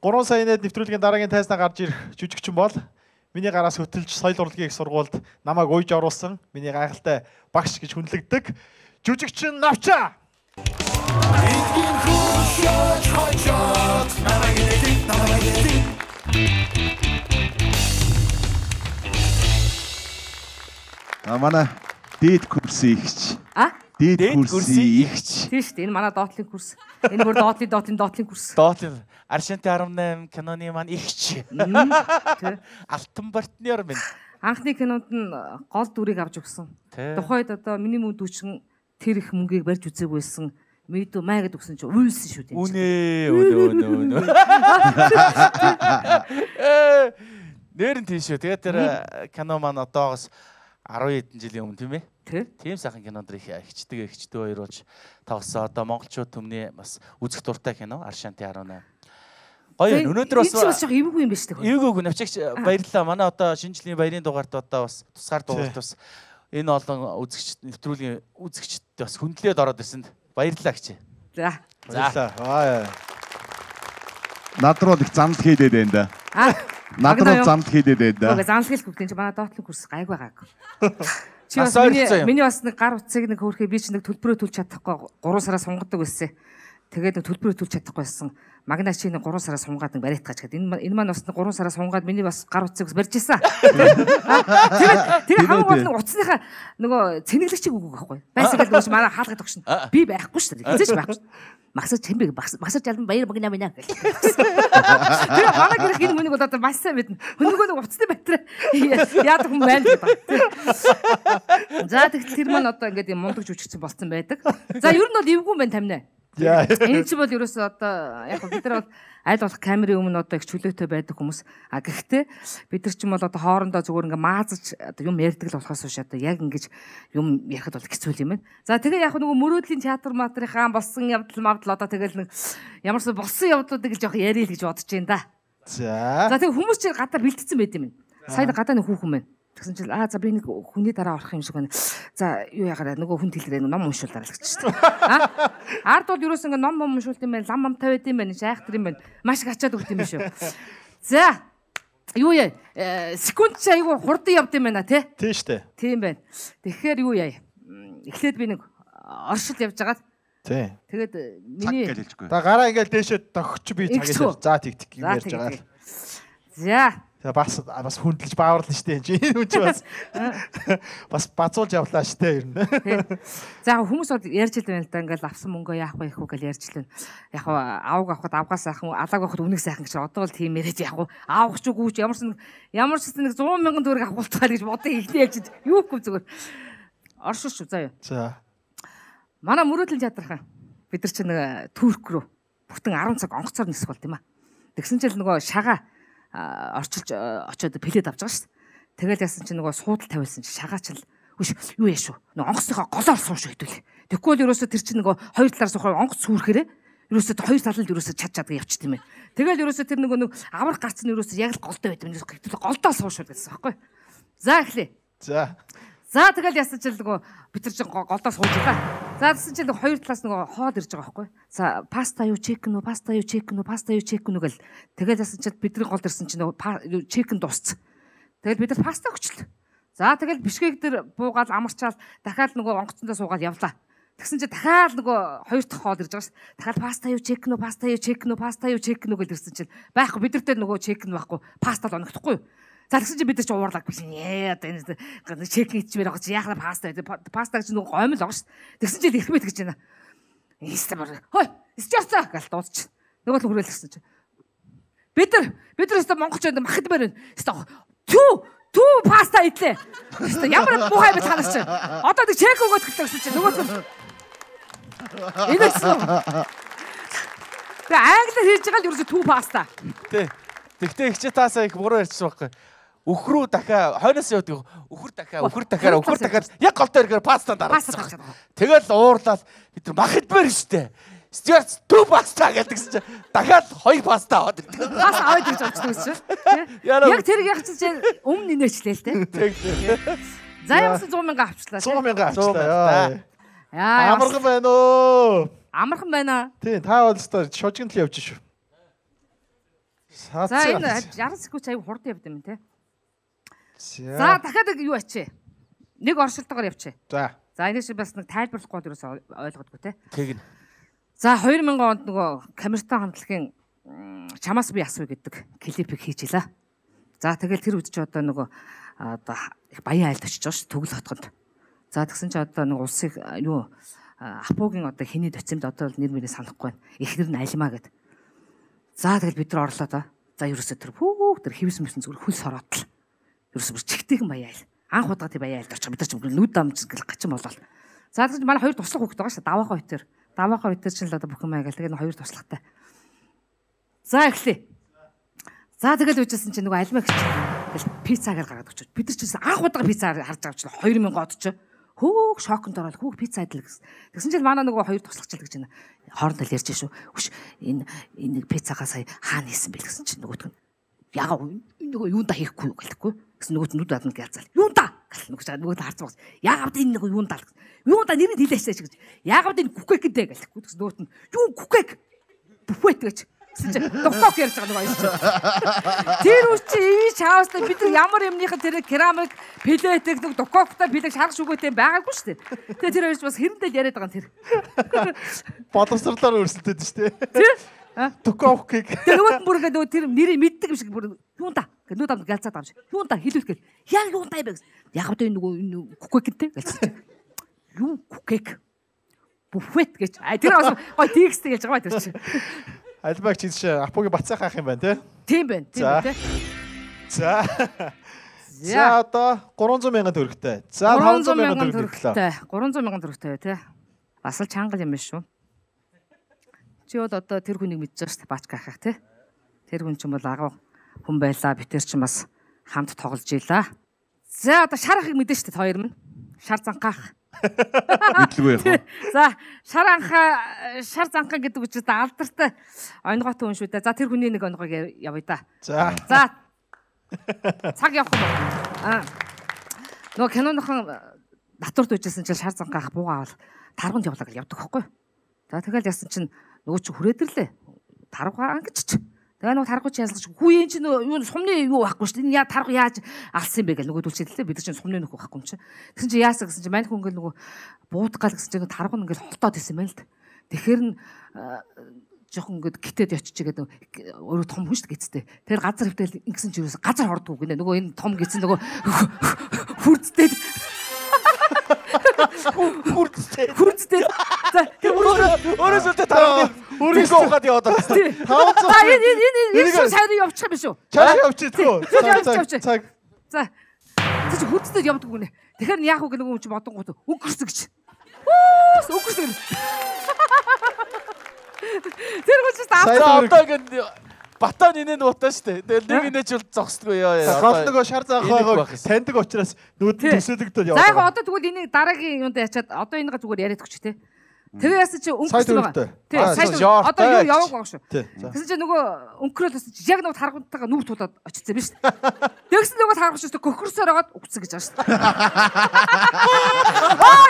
Гурван сая нэт нэвтрүүлгийн дараагийн тайзнаа гарч ирэх жүжигчин бол миний гараас хөтөлж соёл урлагийн их сургуульд намайг уйж оруулсан миний гайхалтай багш гэж хүндлэгддэг жүжигчин Навча. Манай дээд курсын ихч. Дээд курсын ихч. Тийм шүү дээ. Энэ манай доотлын курс. Энэ бүр доотлын курс. Доотлын Аршинти 18 киноны маань ихч. Алтан партнер минь. Анхны кинонд нь гол дүрийг авч өгсөн. Тухайд одоо миний мөн дүүчин тэр их мөнгийг барьж үзээгүйсэн. Мэдүү маа гэд өгсөн чи уйлсан шүү дээ. Үнэ. Нэрэн тийм шүү. Тэгээд тэр кино маань одоогоос 10 хэдэн жилийн өмнө тийм ээ. Тийм сайхан кинонд их ихчтэй хоёр болж тоглосон. Одоо монголчууд төмний бас үзэх дуртай кино Аршанти 18. Гоё өнөөдөр бас эвгүй юм биш үү? Эвгүй навчигч баярлалаа. Манай одоо шинэ жилийн баярын дугаарт одоо бас тусгаар дугаарт бас энэ олон үзэгч нэвтрүүлгийн үзэгчд бас хүндлээд ороод ирсэнд баярлалаа гэж. За. Баярлалаа. Над руу их замд хийдээд байна да. Над руу замд хийдээд байна да. Уг замсгал бүгдэн чи манай доотлын курс гайгүй гайг. Чи бас миний бас нэг гар утсыг нэг хөөрхөө би чи нэг төлбөрөө төлж чадахгүй 3 сараа сунгаддаг байсан. Тэгээд нэг төлбөрөө төлж чадахгүй байсан. Магнаа чи нэг 3 сараа сунгаад нэг бариад гаж гэд. Энэ маань бас 3 сараа сунгаад миний бас гар утсыг бас барьж ийсэн. Тэгээд хамгийн гол нь утасныхаа нөгөө цэнэглэгчийг өгөх байхгүй. Байсан гэдэг нь манай хаалгад өгшин. Би байхгүй шүү дээ. Хизээч байхгүй. Магсаж чимбэг магсаж албан баяр магнаа минь. Тэгээд манай гэрх энэ хүнийг одоо маш сайн мэднэ. Хөнгөө нэг утасны батарей яадаг хүн байна гэдэг. За тэгт тэр маань одоо ингээд юм мундаг жүжигчин болцсон байдаг. За ер нь бол эвгүй юм байна тамина. Энэ ч бол ерөөсөө одоо яг бид нар бол аль болох камерын өмнө одоо их чөлөөтэй байдаг хүмүүс. А гэхдээ бид нар ч юм бол одоо хоорондоо зүгээр ингээ маазаж одоо юм ярьдаг л болохоос биш одоо яг ингэж юм ярихад бол хэцүү юм байна. За тэгээ яг нөгөө мөрөөдлийн театр матрийнхаа болсон явдал мавдал одоо тэгэл нэг ямарсан болсон явдлуудыг л жоох ярил гэж бодож байна да. За тэгээ хүмүүс чинь гадаа бэлтгэсэн байд юм. Сайн гадаа нэг хүүхэн байна. Тэгсэн чинь за би нэг хүний дараа орох юм шиг байна. За юу ягараа нөгөө хүн тэлрээ ном уншуулдараа л гэж чинь. Ард бол ерөөс ингээ ном уншуулт юм байна, лам тавиад юм байна, шайхтар юм байна. Маш их ачаад өгд юм шүү. За юу яа? Секунд чи айгу хурдан явд юм байна тий? Тийм штэ. Тийм байна. Тэгэхээр юу яа? Эхлээд би нэг оршил явж байгаад тий. Тэгээд миний та гараа ингээл дээшээ догч би цагаас за тэг юм ярьж байгаа. За бас хүндэлж бааварлаа штэ энэ хүн чи бас бацуулж явлаа штэ ер нь. За хүмүүс бол ярьж л байна л да ингээл авсан мөнгөө яах вэ гэхүү гэж ярьж л байна. Яг аваг авахд авгаас сайхан алааг авахд үнэг сайхан гэж одоо бол тийм яриад яах вэ? Авах ч үгүй ч ямар ч нэг 100 мянган төгрөг авахултаар гэж бодсон ихний ярьж юу гэв зүгээр. Оршиж шүү заа юу. За. Манай мөрөөдлийн театрхан бид нар чинь нэг Турк руу бүтэн 10 цаг онгоцоор нисэх болт юм а. Тэгсэн чинь нөгөө шагаа орчилж очиод плед авч байгаа шүү дээ. Тэгэл яасан чинь нөгөө суудал тавиулсан чи шагаач л юу яа шүү. Нөгөө онгоцныхоо голоор сууш хэдүүл. Тэгвэл ерөөсө тэр чинь нөгөө хоёр талаар суухаар онгоц сүрхээрээ ерөөсө хоёр талд ерөөсө чаддаг явчихд юм байна. Тэгэл ерөөсө тэр нөгөө аврах гарц нь ерөөсө яг л голтой байт юм. Голдоо суушвал гэсэн байхгүй. За эхлэе. За тэгэл яасан чинь нөгөө бид нар чинь голдоо суужлаа. За тэгсэн чинь хоёр талаас нөгөө хоол ирж байгаа байхгүй. За паста юу чекн үү, паста юу чекн гэл. Тэгэл яасан чинь бидний голд ирсэн чинь нөгөө чекн дууссан. Тэгэл бид нар паста өгчлээ. За тэгэл бишкек дээр буугаад амарчаал дахиад нөгөө онгоцондоо суугаад явлаа. Тэгсэн чинь дахиад нөгөө хоёр дахь хоол ирж байгаа ш. Дахиад паста юу чекн үү гэл ирсэн чинь байхгүй бид нартэй нөгөө чекн байхгүй паста л оногдохгүй юу. За тэгсэн чинь бид нар ч уурлаг биш. Одоо энэ чекн ичмээр байгаа чи яхаа паста гэж нөгөө гомл байгаа ш. Тэгсэн чинь их мэд гэж байна. Истэмэр. Хой, стёрцаа гал дуудчих. Нөгөө л хүрээлсэн чинь. Бид нар өстө монголчууд махад барина. Өстө түү паста идлээ. Өстө ямар муухай байж ханаас чи. Одоо нэг чек өгөөд гэлээ гэсэн чинь нөгөө инээсэн. Тэгээ англиар хийж байгаа л ерөөсө түү паста. Тий. Тэгтээ их чи таасаа их буруу ярьчихсан байхгүй. Өхрүү дахиа хойноос явдаг өхөр дахиад яг голтой ирэхээр паста дараасан. Тэгэл уурлаад бид нар махидмэр штэ. Стюарт түү паста гэдэгсэн чинь дахиад хоёр паста аваад ирдэг. Паста аваад ирж очсон гэсэн чинь. Яг тэр яг чинь өмнө инээчлээ л те. За ямарсан 100 мянга авчлаа. 100 мянга авчлаа. Амархан байна уу? Амархан байна. Тийм, та бол өстой шожигнол явж шүү. За энэ 60 секунд аяг хурд явд юм те. За дахиад юу ачээ? Нэг оршилтойгоор явчээ. За. За энэ шиг бас нэг тайлбарлахгүй бол ерөөсөй ойлгодгүй те. Тэгнь. За 2000 онд нөгөө камертон хамтлагийн чамаас би асуу гэдэг клипийг хийчихлээ. За тэгэл тэр үдч одоо нөгөө одоо баян айлд очиж байгаа ш төгөл хотгонд. За тэгсэн чи одоо нэг улсыг юу Апугийн одоо хэний доцимд одоо нэр мөрөө санахгүй байна. Эхнэр нь Алимаа гэдэг. За тэгэл бид нар орлоо та. За ерөөсөө тэр хивс мөсөн зүгээр хөл сороотл. Ерөөсөө чигтэйгэн баяа айл. Анх удаа тий баяа айлд очих бид нар ч нүд дамж гэл гачин болол. За тэгсэн чи манай хоёр туслах хүүхэд байгаа ш. Даваахан хоёр. Даваахан хоёр чинь л одоо бүх юм аягаал. Тэгээ хоёр туслахтай. За эхлэе. За тэгэл үжсэн чи нөгөө Алимаа гэж тэгэл пиццагаар гаргаад өгч. Бид нар ч анх удаа пиццаар харж байгаа ч 2000 од ч. Хөөх шоконд ороод хөөх пицца идэл гэсэн. Тэгсэн чинь манай нөгөө хоёр туслагчл гэж байна. Хоорондоо л ярьж шүү. Хүш энэ пиццагаа сая хаана хийсэн бэ гэсэн чинь нөгөөтг нь ягаа нөгөө юунда хийхгүй юу гэлэхгүй. Гэсэн нөгөөт нүд адна гэлзал. Юунда гэл нөгөөт харж байгаа. Яагаад энэ нөгөө юунда л. Юунда нэрийг хэлээсэй гэж. Яагаад энэ кукек гэдэг гэлэхгүй. Тэгсэн нөгөөт нь юу кукек бүфет гэж. Доктор ярьж байгаа нэг аюул. Тэр үчи ивч хаустай бид нар ямар юмныхан тэр керамик плетик нэг дококтой плетик шарах шүгээтэй байгаагүй шүү дээ. Тэгээ тэр аюулч бас хэрэндэл яриад байгаа тэр. Боловсрлоор өрсөлдөд шүү дээ. Дококийг. Тэр нөгөө бүр нөгөө тэр нэрийг мэддэг юм шиг бүр юунда гэдэг нүд амд галзаад авч. Юунда хэлүүлэх гээл. Яг юунда юм бэ гэсэн. Яг одоо энэ нөгөө кукектэй гэлсэн. Юу кукек? Буфет гэж. Тэр бас гой текст гэж байгаа тэр чинь. Албаг чи Апугийн бацаах ах юм байна те. Тийм байна. Тийм те. За. За одоо 300 мянган төгрөгтэй. За 500 мянган төгрөгтэй. 300 мянган төгрөгтэй те. Бас л чангал юм биш шүү. Чи бол одоо тэр хүнийг мэдж байгаа шүү дээ Баачка ахах те. Тэр хүн ч юм бол агуу хүн байлаа. Би тэр чинь бас хамт тоглож ийлаа. За одоо шар ахыг мэдэн шүү дээ хоёр минь. Шар занхаах. Мэдлгүй яах вэ? За шар занхаа гэдэг үчирт алдартай онгойтой хүн шүү дээ. За тэр хүний нэг онгойг явъя да. За. За. Цаг явах юм. Нөгөө киноныхон натурд үжсэн чинь шар занхаах буугаавал тарганд явлаа гэж явдаг байхгүй. За тэгэл ясан чинь нөгөө чи хүрээдэрлээ. Таргаа ангич. Тэгээ нөгөө таргууч ясалж хүү энэ чинь юу сумны юу байхгүй шүү дээ. Энэ яа таргуу яаж алсан юм бэ гэл нөгөө дүлчийлээ. Бид чинь сумны нөхөө байхгүй юм чи. Тэгсэн чи яасаа гэсэн чи мань хүн ингээл нөгөө буудгаал гэсэн чи таргуу ингээл холтоод исэн байл л да. Тэгэхээр нь жоохон ингээд гитэд очиж игээд өөрөө том хүн шүү дээ гэцтэй. Тэр газар хөвтөл ингэсэн чи юус газар хордгоо гинэ. Нөгөө энэ том гэсэн нөгөө хүрдтэй. Хүрдтэй. За тэр Өөрөөсөө таргуу өөрөөсөө гад яваад байна. 500. За энэ шүү сайрын явчих юм шүү. Чаа явчих. Цаг. За. Тэг чи хүрдтэй явдаг гүнэ. Тэгэхээр яах вэ гэх нэг юм чи бодонгууд өнгөрсөн гэж. Өнгөрсөн. Тэр хүн ч одоо ингэ батан инээ нуутаа штэ. Тэгэл нэг инээч бол зогсдгүй яа. Гол нөгөө шар заахаа таньдаг учраас нүд төсөөлөгдөд яваа. За яг одоо тэгвэл энийг дараагийн юунд ячаад одоо энэгээ зүгээр яриад өгч тээ. Тэгээ яасан чи өнгөрсөн байгаа. Тий. Одоо юу яваг байгаа шүү. Тэгсэн чи нөгөө өнгөрөөл бас яг нөгөө таргуунтайгаа нүүр тулаад очицсан биз дээ. Тэгсэн нөгөө таргууч гөхөрсөөр агаад үгцэн гэж байгаа шүү.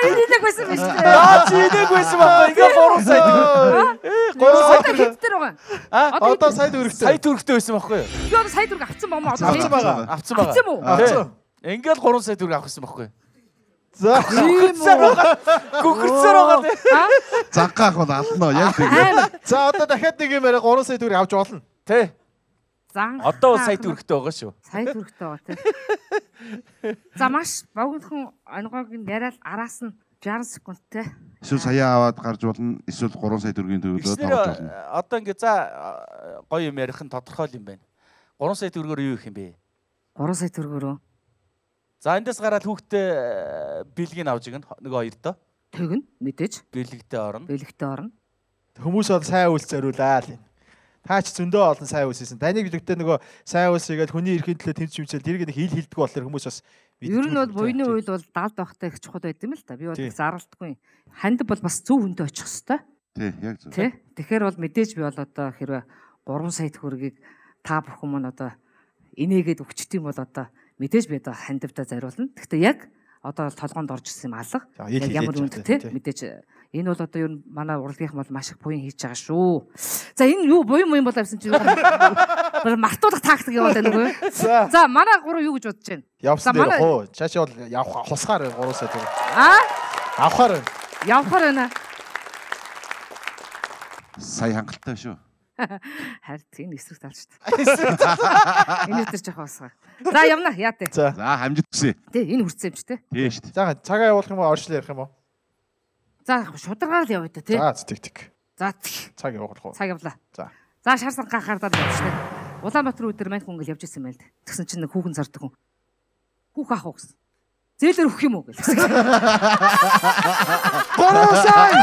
Энэ нэг байсан биз дээ. Чи нэг байсан байна. Ингээ 3 сая. 3 сая хэдтэр байгаа. Одоо сая төгрөгтэй. Сая төгрөгтэй байсан байхгүй юу? Би одоо сая төгрөг авцсан бомоо одоо. Авцсан байгаа. Авцсан байгаа. Авцсан уу? Ингээл 3 сая төгрөг авах гэсэн байхгүй юу? За. Гөхөрсөөр байгаа. Занхаах бол алнаа яг тийм. За одоо дахиад нэг юм яриа 3 сая төгрөг авч болно. Тэ. Зан. Одоо сая төгрөгтэй байгаа шүү. Сая төгрөгтэй байгаа тий. За маш богинохон онгойг нь яриад араас нь 60 секундтэй. Эсвэл сая аваад гарч болно. Эсвэл 3 сая төгрөгийн төгрөгөөр тоглож болно. Одоо ингээ за гоё юм ярих нь тодорхой юм байна. 3 сая төгрөгөөр юу их юм бэ? 3 сая төгрөгөөрөө. За эндээс гараад хүүхдээ бэлгийг авч игнэ нэг хоёр доо. Тэгнь мэдээж. Бэлэгтэй орно. Бэлэгтэй орно. Хүмүүс бол сайн үйлс зориулаа л. Та ч зөндөө олон сайн үйлс хийсэн. Таныг билэгтэй нөгөө сайн үйлс хийгээл хүний эрхийн төлөө тэмцэж хэмжээл тэрийг нэг хил хилдэг болохоор хүмүүс бас ер нь бол буйны үйл бол далд байхтай их чухал байд юм л та. Би бол зарлалтгүй. Ханд бол бас зөв хүндээ очих хэвээр. Тий, яг зөв. Тий. Тэгэхээр бол мэдээж би бол одоо хэрвээ 3 сая төгрөгийг та бүхэн маань одоо инээгээд өгчт юм бол одоо мэдээж би одоо хандивдаа зариулна. Гэхдээ яг одоо толгоонд орж ирсэн юм алга. Яг ямар үнд тий мэдээж энэ бол одоо ер нь манай урлагийнхан бол маш их буян хийж байгаа шүү. За энэ юу буян бол авсан чи юу мартуулах тактик яваад байна үгүй. За манай гурав юу гэж бодож байна? Явсан дээр хоо. Чаашаа бол явах хусгаар 3 сая төгрөг. Авахаар. Явахаар байна. Сая хангалттай шүү. Харин энэ эсрэг тал шүү дээ. Энэ өдөр жоох басгаа. За явна яа тээ. За хамжид хүсье. Тий энэ хүрсэн юм чи тээ. Тий шүү дээ. За цагаа явуулах юм уу орчлоо ярих юм уу? За шударгаар л явъя та тий. За тэг. За цаг явуулах уу? Цаг явлаа. За. За шар санхаахаар явчихлаа. Улаанбаатар өдөр маань хүн ингээл явж ирсэн байл. Тэгсэн чинь нэг хүүхэн зардаг хүн. Хүүх аах уу гэсэн. Зээлэр өгөх юм уу гэл. 3 сая.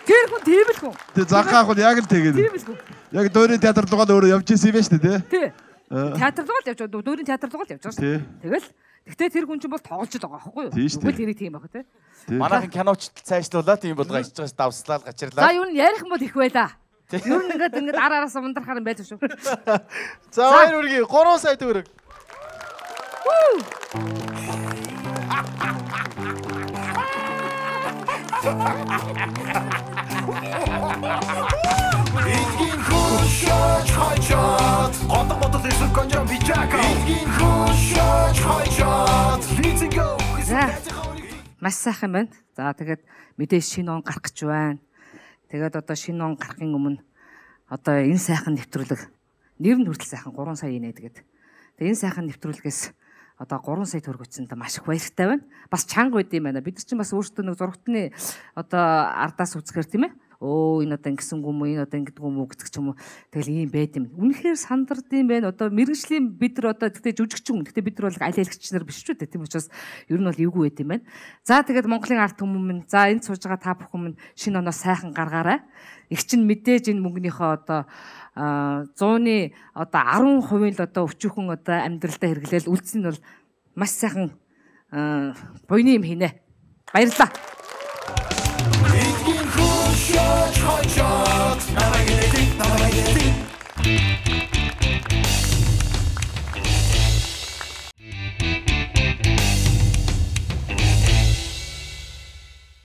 Тэр хүн тийм л хүн. Тэг занхаах бол яг л тэгээд. Тийм л хүн. Яг Дөрийн театр руугаа өөрөө явж ирсэн юм байна шүү дээ тий. Тий. Театр руугаа л явж байгаа. Дөрийн театр руугаа л явж байгаа шүү. Тэгэл гэхдээ тэр хүн чинь бол тоглож байгаа байхгүй юу? Үгүй л ирэх тийм байх тий. Манайхан киноч цаашлуулаад тийм болгоо ичж байгаас давслаа гачирлаа. За юу н ярих юм бол их байла. Юу н ингээд араас ундрахаар юм байж шүү. За хоёр үргийн 3 сая төгрөг. Эдгийн хушаач хачаад одон бодол эсвэл конжон бичака эдгийн хушаач хачаад лизинго маш сайхан байна. За тэгээд мэдээж шинэ он гарах гэж байна. Тэгээд одоо шинэ он гарахын өмнө одоо энэ сайхан нэвтрүүлэг нэр нь хүртэл сайхан 3 сая инэ тэгээд энэ сайхан нэвтрүүлгээс одоо 3 сая төгрөг өчсөнд маш их баяртай байна. Бас чанга байд юм байна. Бид нар чинь бас өөрсдөө нэг зургатны одоо ардаас үзэхэр тийм ээ. Өө энэ одоо ингэсэн юм уу, энэ одоо ингэдэг юм уу гэдэг ч юм уу. Тэгэл ийм байд юм. Үнэхээр сандардсан байна. Одоо мэрэгжлийн бид нар одоо тэгтээ жүжигчин. Тэгтээ бид нар бол алиалагч нар биш ч үү. Тийм учраас ер нь бол эвгүй байд юм байна. За тэгээд Монголын ард түмэн минь за энд сууж байгаа та бүхэн минь шинэ оноо сайхан гаргаарай. Их чинь мэдээж энэ мөнгөнийхөө одоо 100-ны одоо 10% л одоо өчүүхэн одоо амьдралдаа хэрэглээл үлдсэн нь бол маш сайхан буйны юм хийнэ. Баярлалаа. эдгийн хушаач хачаад